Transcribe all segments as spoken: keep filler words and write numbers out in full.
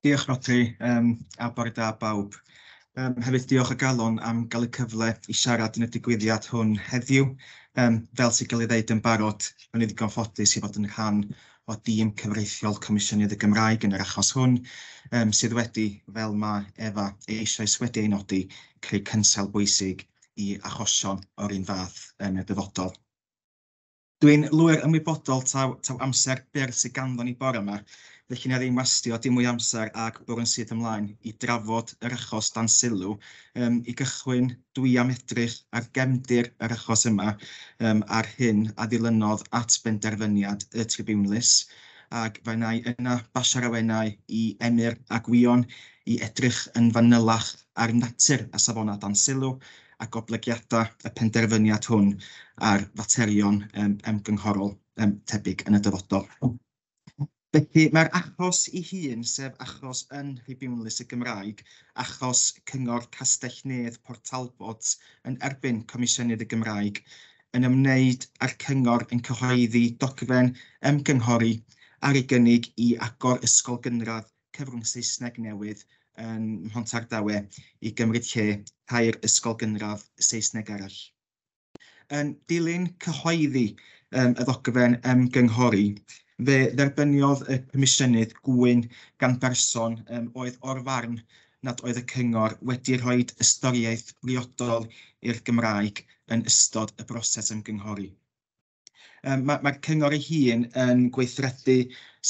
Diolch Rhodri, um, a bore da bawb. Um, hefyd diolch o galon am gael y cyfle i siarad yn y digwyddiad hwn heddiw. Um, fel sy'n cael ei ddeud yn barod, o'n i ddigon ffodus i fod yn rhan o dîm cyfreithiol Comisiynydd y Gymraeg yn yr achos hwn, um, sydd wedi, fel mae Efa eisoes wedi ei nodi, creu cynsail bwysig i achosion o'r un fath yn y dyfodol. Dwi'n lwyr ymwybodol taw, taw amser byr sydd ganddo ni bore yma, felly na ddim wastio dim mwy amser ag bwrw yn syth ymlaen i drafod yr achos dan sylw. Um, I gychwyn, dwi am edrych ar gefndir yr achos yma um, a'r hyn a ddilynodd at benderfyniad y tribiwnlys, ac fe wna i yna basio'r awenau i Emyr a Gwion i edrych yn fanylach ar natur a safonau dan sylw a goblygiadau y penderfyniad hwn ar faterion um, ymgynghorol um, tebyg yn y dyfodol. Felly mae'r achos ei hun, sef achos yn Nhribiwnlys y Gymraeg, achos Cyngor Castell-nedd Port Talbot yn erbyn Comisiynydd y Gymraeg, yn ymwneud â'r cyngor yn cyhoeddi dogfen ymgynghori ar ei gynnig i agor ysgol gynradd cyfrwng Saesneg newydd yn Mhontardawe i gymryd lle tair ysgol gynradd Saesneg arall. Yn dilyn cyhoeddi um, y ddogfen ymgynghori, fe dderbyniodd y Comisiynydd gŵyn gan berson um, oedd o'r farn nad oedd y cyngor wedi rhoi ystyriaeth briodol i'r Gymraeg yn ystod y broses ymgynghori. Um, Mae'r ma cyngor ei hun yn gweithredu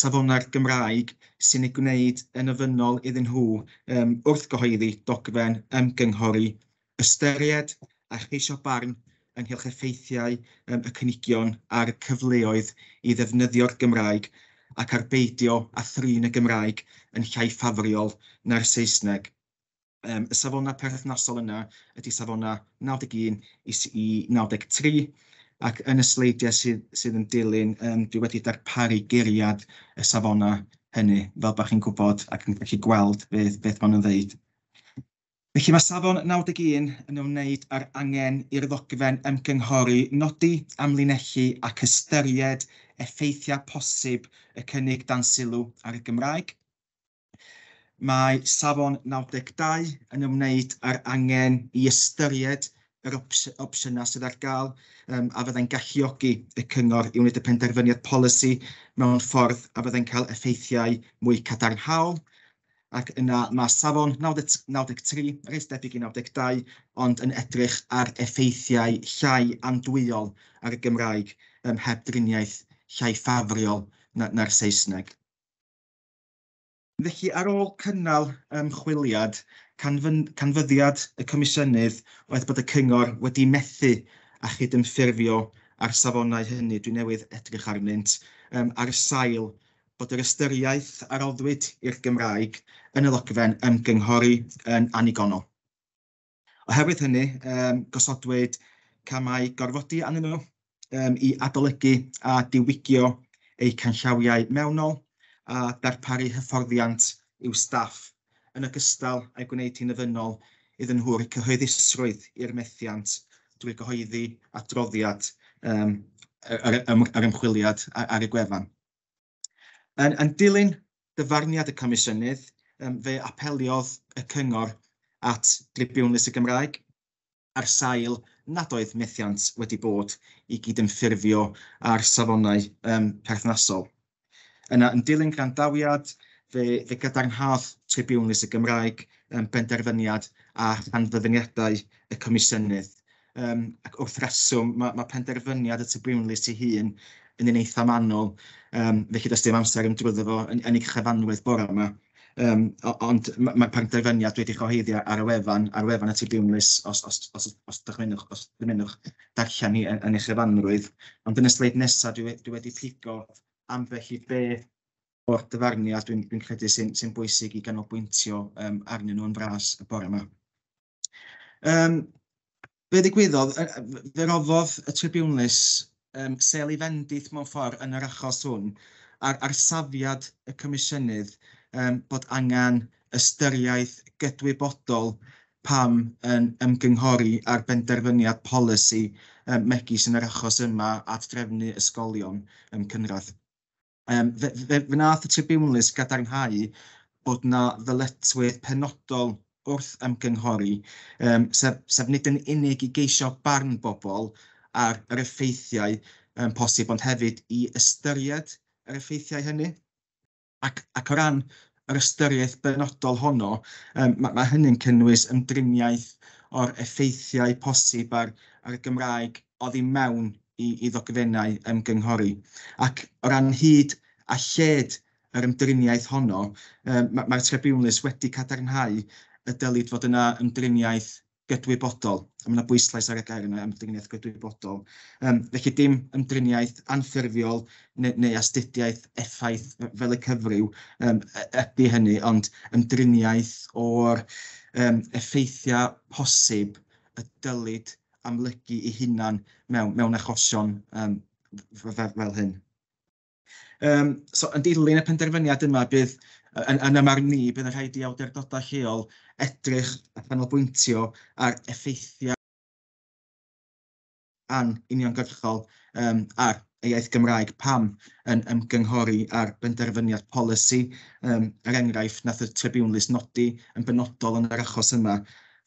safonau'r Gymraeg sy'n ei gwneud yn ofynnol iddyn nhw um, wrth gyhoeddi dogfen ymgynghori, ystyried a cheisio barn ynghylch effeithiau um, y cynigion a'r cyfleoedd i ddefnyddio'r Gymraeg ac ar beidio a thrin y Gymraeg yn llai ffafriol na'r Saesneg. Um, y safonau perthnasol yna ydy safonau naw deg un i naw deg tri, ac yn y sleidiau sydd, sydd yn dilyn, um, dwi wedi darparu geiriad y safonau hynny, fel bod chi'n gwybod ac yn gallu gweld beth, beth maen nhw'n ddeud. Felly mae safon naw deg un yn ymwneud â'r angen i'r ddogfen ymgynghori nodi, amlinellu ac ystyried effeithiau posib y cynnig dan sylw ar y Gymraeg. Mae safon naw deg dau yn ymwneud â'r angen i ystyried yr opsiynau sydd ar gael um, a fyddai'n galluogi y cyngor i wneud y penderfyniad polisi mewn ffordd a fyddai'n cael effeithiau mwy cadarnhaol. Ac yna mae safon naw deg tri, reit debyg i naw deg dau, ond yn edrych ar effeithiau llai andwyol ar y Gymraeg um, heb driniaeth llai ffafriol na'r Saesneg. Felly, ar ôl cynnal ymchwiliad, canfyddiad y Comisiynydd oedd bod y cyngor wedi methu a chydymffurfio â'r safonau hynny dwi newydd edrych arnynt, um, ar sail bod yr ystyriaeth a roddwyd i'r Gymraeg yn y ddogfen ymgynghori yn annigonol. Oherwydd hynny, um, gosodwyd camau gorfodi arnyn nhw um, i adolygu a diwygio eu canllawiau mewnol a darparu hyfforddiant i'w staff, yn ogystal â'i gwneud hi'n ofynnol iddyn nhw roi cyhoeddusrwydd i'r methiant drwy gyhoeddi adroddiad um, yr, yr ymchwiliad ar y gwefan. Yn, yn dilyn dyfarniad y Comisiynydd, um, fe apeliodd y cyngor at Dribiwnlys y Gymraeg ar sail nad oedd methiant wedi bod i gydymffurfio â'r safonau um, perthnasol. Yna, yn dilyn gwrandawiad, fe, fe gadarnhaodd Tribiwnlys y Gymraeg um, benderfyniad a chanfyddiadau y Comisiynydd. Um, ac wrth reswm, mae, mae penderfyniad y Tribiwnlys ei hun yn un eitha manwl, um, felly does dim amser yn drwyddo fo yn, yn ei chyfanrwydd bore yma. Um, ond mae'r penderfyniad wedi cyhoeddi ar y wefan, ar wefan y Tribiwnlys, os, os, os, os dychmynwch, os dymunwch darllen hi yn, yn ei chyfanrwydd. Ond yn y sleid nesaf dwi, dwi wedi pigo ambell i beth o'r dyfarniad dwi'n dwi credu sy'n sy bwysig i ganolbwyntio um, arnyn nhw yn fras y bore yma. Um, be ddigwyddodd, fe roddodd y Tribiwnlys um, sêl i fendith mewn ffordd yn yr achos hwn ar, ar safiad y Comisiynydd um, bod angen ystyriaeth gydwybodol pam yn ymgynghori ar benderfyniad polisi um, megis yn yr achos yma at drefnu ysgolion um, cynradd. Um, fe, fe, fe wnaeth y Tribiwnlys gadarnhau bod na ddyletswydd penodol wrth ymgynghori, um, sef, sef nid yn unig i geisio barn bobl ar yr effeithiau um, posib, ond hefyd i ystyried yr effeithiau hynny. Ac, ac o ran yr ystyriaeth benodol honno, um, mae, mae hynny'n cynnwys ymdriniaeth o'r effeithiau posib ar, ar y Gymraeg oddi mewn i, i ddogfennau ymgynghori. Ac o ran hyd a lled yr ymdriniaeth honno, um, mae'r ma tribiwnlys wedi cadarnhau y dylid fod yna ymdriniaeth gydwybodol. A mae yna bwyslais ar y gair yna, ymdriniaeth gydwybodol. Um, felly dim ymdriniaeth anffurfiol neu, neu astudiaeth effaith fel y cyfryw um, ydy hynny, ond ymdriniaeth o'r um, effeithiau posib y dylid amlygu ei hunan mewn, mewn achosion um, fel, fel hyn. Um, so, yn dilyn y penderfyniad yma, bydd yn, yn ymarn ni, bydd yn rhaid i awdurdodau lleol edrych a chanolbwyntio ar effeithiau anuniongyrchol um, ar y iaith Gymraeg pam yn ymgynghori ar benderfyniad polisi. Um, er enghraifft, nath y tribiwnlys nodi yn benodol yn yr achos yma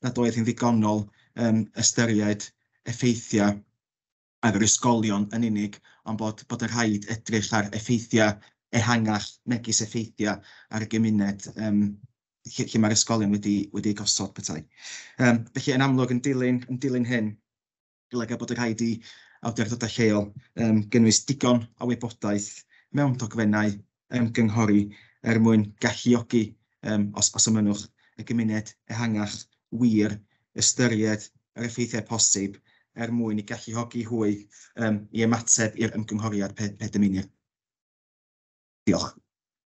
nad oedd hi'n ddigonol um, ystyried effeithiau ar yr ysgolion yn unig, ond bod, bod y rhaid edrych ar effeithiau ehangach, megis effeithiau ar y gymuned um, lle, lle mae'r ysgolion wedi, wedi gosod petai. Um, felly, yn amlwg, yn dilyn, yn dilyn hyn, golyga bod y rhaid i awdurdodau lleol um, gynnwys digon o wybodaeth mewn dogfennau ymgynghori er mwyn galluogi, um, os, os ymynwch, y gymuned ehangach wir ystyried yr effeithiau posib er mwyn i galluogi hwy um, i ymateb i'r ymgynghoriad pe, pe dymunir. Diolch.